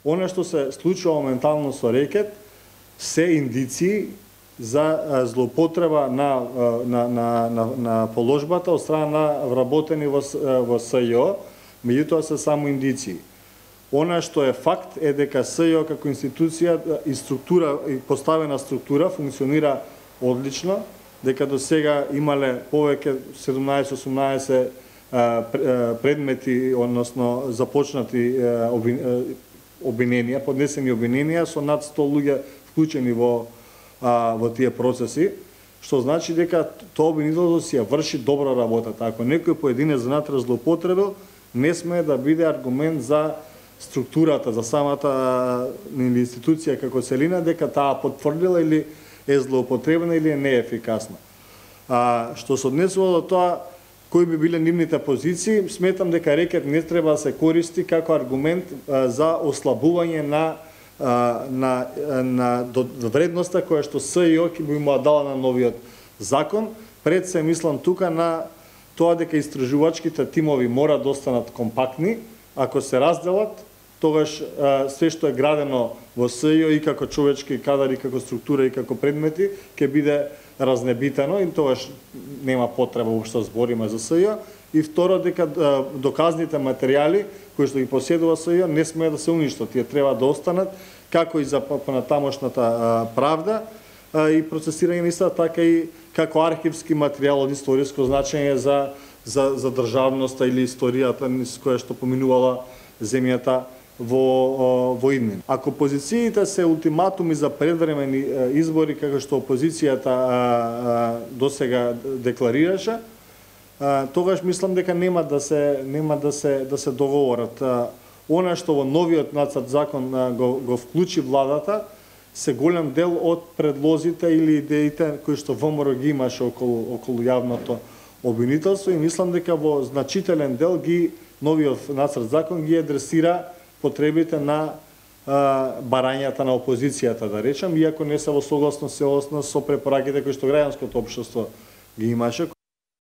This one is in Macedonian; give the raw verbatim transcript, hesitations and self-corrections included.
Она што се случува моментално со рекет се индиции за злоупотреба на, на, на, на, на положбата од страна на вработени во, во СЈО, меѓутоа се само индиции. Она што е факт е дека СЈО како институција и структура, и поставена структура функционира одлично, дека до сега имале повеќе седумнаесет-осумнаесет предмети, односно започнати обвиненија, поднесени обвиненија со над сто луѓе вклучени во а, во тие процеси, што значи дека тоа обвинителство си ја врши добра работата. Ако некој поединец внатре злоупотребил, не сме да биде аргумент за структурата, за самата институција како целина, дека таа потврдила или е злоупотребена или е неефикасна. А, што се однесува до тоа, кои би биле нивните позиции, сметам дека рекет не треба да се користи како аргумент а, за ослабување на а, на, на вредноста која што СЈО ќе би му дала на новиот закон. Пред се мислам тука на тоа дека истражувачките тимови мора да останат компактни. Ако се разделат, тогаш а, све што е градено во СЈО и како човечки кадари, како структура и како предмети, ќе биде разнебитано и тогаш нема потреба уопшто збориме за СЈО. И второ, дека доказните материјали кои што ги поседува СЈО не смеат да се уништат, тие треба да останат како и за понатамошната правда и процесирање на истата, така и како архивски материјал од историско значење за за за државноста или историјата низ која што поминувала земјата во во иднина. Ако позициите се ултиматуми за предвремени избори, како што опозицијата досега декларираше, тогаш мислам дека нема да се нема да се да се договорат. Она што во новиот нацрт закон го, го вклучи владата се голем дел од предлозите или идеите кои што ВМРО ги имаше околу околу јавното обвинителство, и мислам дека во значителен дел ги новиот нацрт закон ги адресира потребите на а, барањата на опозицијата, да речем, иако не се во согласност со препораките кои што граѓанското општество ги имаше.